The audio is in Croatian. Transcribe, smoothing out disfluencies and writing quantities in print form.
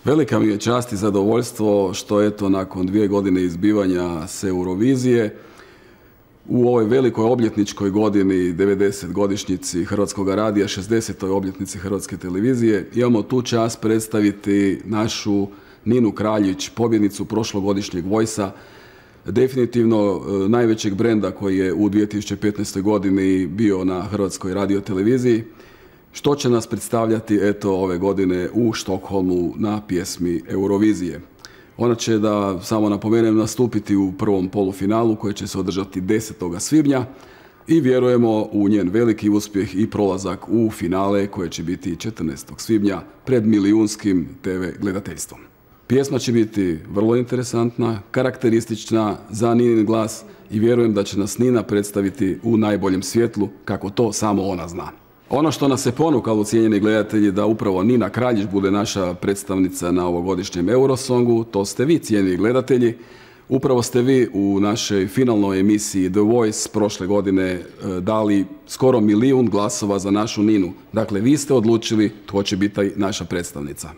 Velika mi je čast i zadovoljstvo što eto nakon 2 godine izbivanja s Eurovizije u ovoj velikoj obljetničkoj godini, 90 godišnjici Hrvatskog radija, 60. obljetnici Hrvatske televizije, imamo tu čast predstaviti našu Ninu Kraljić, pobjednicu prošlogodišnjeg Voice-a, definitivno najvećeg brenda koji je u 2015. godini bio na Hrvatskoj radioteleviziji, što će nas predstavljati eto ove godine u Štokholmu na pjesmi Eurovizije. Ona će, da samo napomenem, nastupiti u prvom polufinalu koji će se održati 10. svibnja i vjerujemo u njen veliki uspjeh i prolazak u finale koje će biti 14. svibnja pred milijunskim TV gledateljstvom. Pjesma će biti vrlo interesantna, karakteristična za Ninin glas i vjerujem da će nas Nina predstaviti u najboljem svjetlu kako to samo ona zna. Ono što nas je ponukalo, cijenjeni gledatelji, da upravo Nina Kraljić bude naša predstavnica na ovogodišnjem Eurosongu, to ste vi, cijenjeni gledatelji. Upravo ste vi u našoj finalnoj emisiji The Voice prošle godine dali skoro 1 milijun glasova za našu Ninu. Dakle, vi ste odlučili tko će biti naša predstavnica.